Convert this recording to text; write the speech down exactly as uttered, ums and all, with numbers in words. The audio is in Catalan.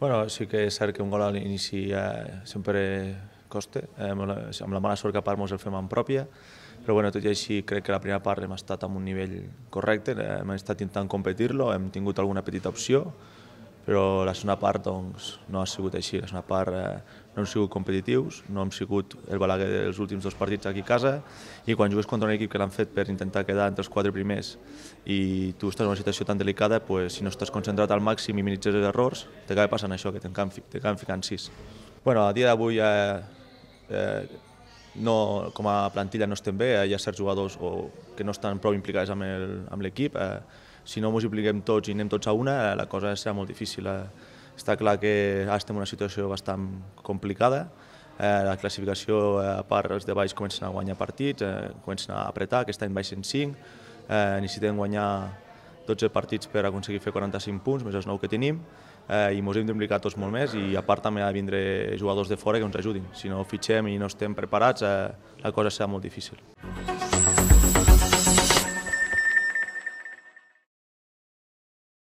Bueno, sí que és cert que un gol a l'inici eh, sempre costa, eh, amb, la, amb la mala sort que a part ens el fem en pròpia, però bueno, tot i així crec que la primera part hem estat amb un nivell correcte, eh, hem estat intentant competir-lo, hem tingut alguna petita opció, però la segona part doncs, no ha sigut així. La segona part eh, no hem sigut competitius, no hem sigut el Balaguer dels últims dos partits aquí a casa, i quan jugues contra un equip que l'han fet per intentar quedar entre els quatre primers i tu estàs en una situació tan delicada, pues, si no estàs concentrat al màxim i minimitzes els errors, t'acaba passant això, que t'acaben ficant sis. Bueno, a dia d'avui eh, eh, no, com a plantilla no estem bé, hi ha certs jugadors o, que no estan prou implicats amb l'equip. Eh, si no ens impliquem tots i anem tots a una, eh, la cosa serà molt difícil. Eh. Està clar que ara estem en una situació bastant complicada. Eh, la classificació, eh, a part, els de baix comencen a guanyar partits, eh, comencen a apretar, aquest any baixen cinc, eh, necessitem guanyar dotze partits per aconseguir fer quaranta-cinc punts, més els nou que tenim, eh, i ens hem d'implicar tots molt més, i a part també ha de vindre jugadors de fora que ens ajudin. Si no fitxem i no estem preparats, eh, la cosa serà molt difícil.